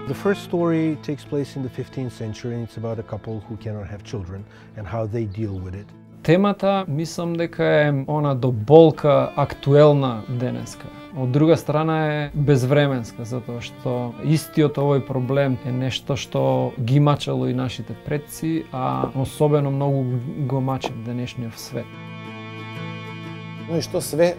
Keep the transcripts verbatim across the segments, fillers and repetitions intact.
The first story takes place in the fifteenth century and it's about a couple who cannot have children and how they deal with it. Темата мислам дека е она до болка актуелна денеска. Од друга страна е безвременска, затоа што истиот овој проблем е нешто што ги мачело и нашите предци, а особено многу го мачи денешниот свет. Но и што све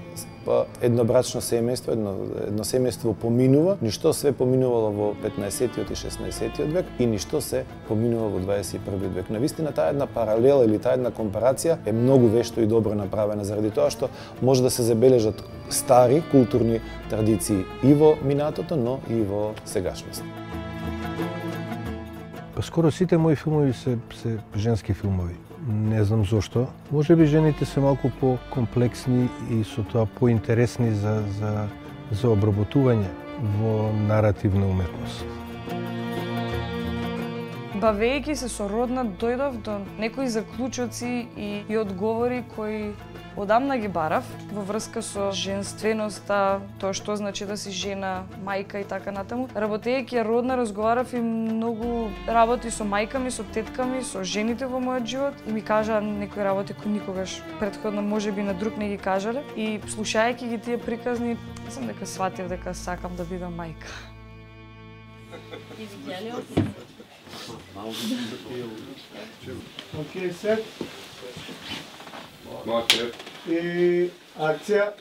еднобрачно семејство, едно, едно семејство поминува, ништо све поминувало во петнаесеттиот и шеснаесеттиот век и ништо се поминува во дваесет и првиот век. Навистина таа една паралела или таа една компарација е многу вешто и добро направена заради тоа што може да се забележат стари културни традиции и во минатото, но и во сегашност. Скоро сите мои филмови се, се женски филмови. Не знам зошто. Може би жените се малку по-комплексни и со тоа поинтересни за, за, за обработување во наративна уметност. Бавејќи се со родна, дојдов до некои заклучоци и, и одговори кои одамна ги барав во врска со женственоста, тоа што значи да си жена, мајка и така натаму. Работејќи родна, разговарав и многу работи со мајками, со тетками, со жените во мојот живот и ми кажаа некои работи кои никогаш претходно можеби на друг не ги кажале. И слушајќи ги тие приказни, сам дека сватив дека сакам да бидам мајка. Океј, сет. И акција.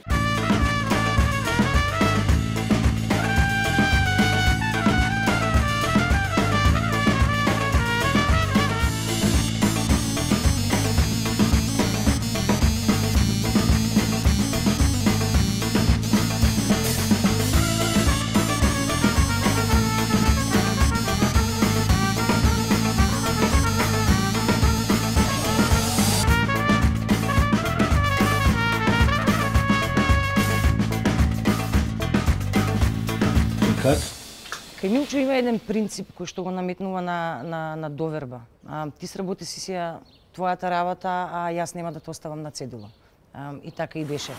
Кај Милчо има еден принцип кој што го наметнува на, на, на доверба. А, ти сработи си сија твојата работа, а јас нема да те оставам на цедило. А, и така и беше.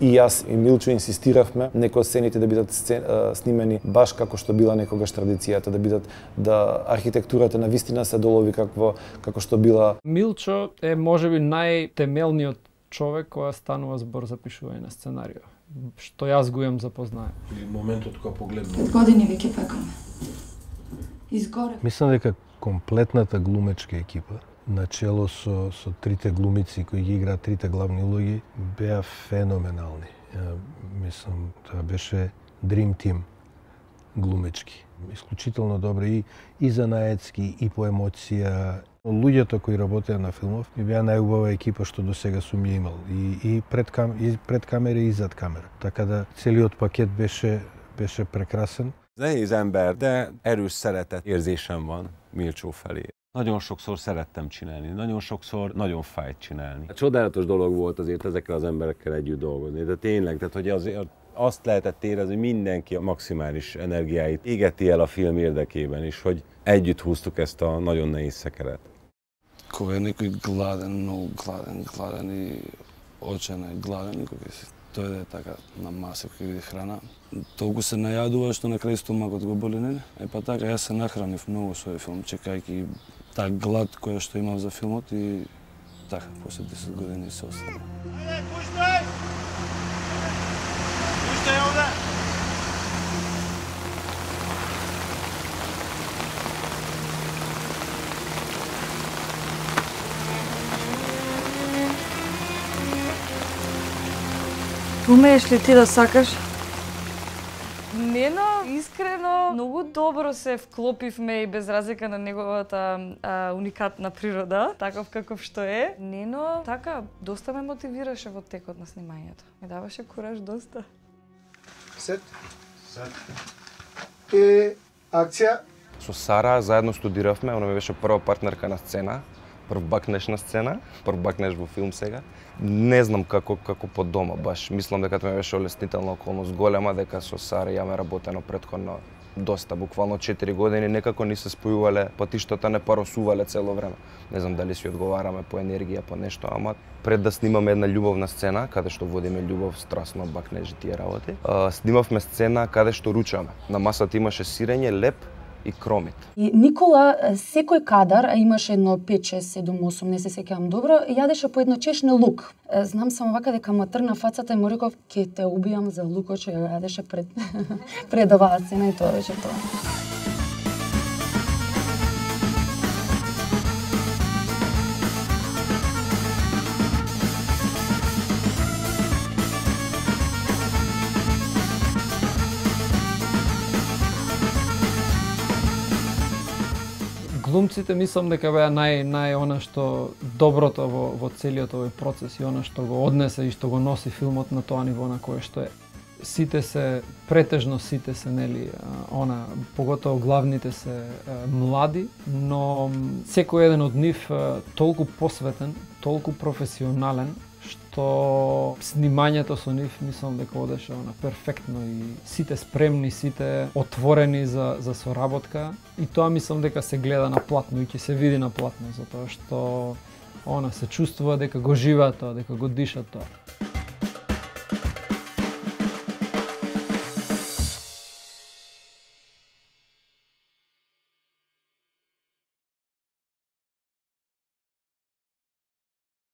И јас и Милчо инсистиравме некои од сцените да бидат сцен, снимени баш како што била некогаш традицијата, да бидат да архитектурата на вистина се долови како како што била. Милчо е можеби најтемелниот човек која станува збор за пишување на сценарио, што јас го имам запознаен. И моментот кога погледнав. Пет години веќе пекаме. Изгоре. Мислам дека комплетната глумечка екипа, начело со со трите глумици кои ги играат трите главни улоги, беа феноменални. Ја, мислам, тоа беше Dream Team глумечки. Исклучително добри и, и занаетски, и по емоција. Луѓето кои работеа на филмов ми беа најубава екипа што досега сум ја имал. И, и, пред кам, и пред камера и зад камера. Така да целиот пакет беше, беше прекрасен. Nehéz ember, de erős szeretet érzésem van Milcsó felé. Nagyon sokszor szerettem csinálni, nagyon sokszor nagyon fájt csinálni. Csodálatos dolog volt azért ezekkel az emberekkel együtt dolgozni, de tényleg, tehát hogy azért azt lehetett érezni, hogy mindenki a maximális energiáit égeti el a film érdekében is, hogy együtt húztuk ezt a nagyon nehéz szekeret. Кога е некој гладен, многу гладен, гладен и очен е гладен, и кога се дојде така на маса кој види храна, толку се најадува што на крај стомакот го боли, нели? Е па така, јас се нахранив многу со овој филм, чекајќи таа глад која што имав за филмот и така, после десет години се остави. Ајде, пуштай! Пуштай овде! Умееш ли ти да сакаш? Нено, искрено, многу добро се вклопивме и без разлика на неговата а, уникатна природа, таков каков што е. Нено, така, доста ме мотивираше во текот на снимањето. Ме даваше кураж доста. Сет. Сет. И акција. Со Сара заедно студиравме, она ми беше прва партнерка на сцена, прв бакнеш на сцена, прв бакнеш во филм сега. Не знам како како по дома баш. Мислам дека тоа ми беше олеснителна околност голема дека со Сара јаме работено претходно доста, буквално четири години некако ни се спојувале, патиштата не паросувале цело време. Не знам дали си одговараме по енергија, по нешто, ама пред да снимаме една љубовна сцена, каде што водиме љубов, страстно, бакнежи тие работи, снимавме сцена каде што ручаме. На масата имаше сирење, леп и кромит. И Никола секој кадар, а имаше едно пет, шест, седум, осум, не се сеќавам добро, јадеше по едно чешне лук. Знам само вака дека ма тргна фацата и му реков ќе те убијам за лукот што ја јадеше пред пред оваа сцена и тоа беше тоа. Глумците мислам дека беа нај нај она што доброто во во целиот овој процес и она што го однесе и што го носи филмот на тоа ниво на кое што е. Сите се претежно сите се нели она поготово главните се млади, но секој еден од нив толку посветен, толку професионален што снимањето со нив мислам дека одеше она перфектно и сите спремни, сите отворени за за соработка и тоа мислам дека се гледа на платно и ќе се види на платно затоа што она се чувствува дека го живеат тоа, дека го дишат тоа.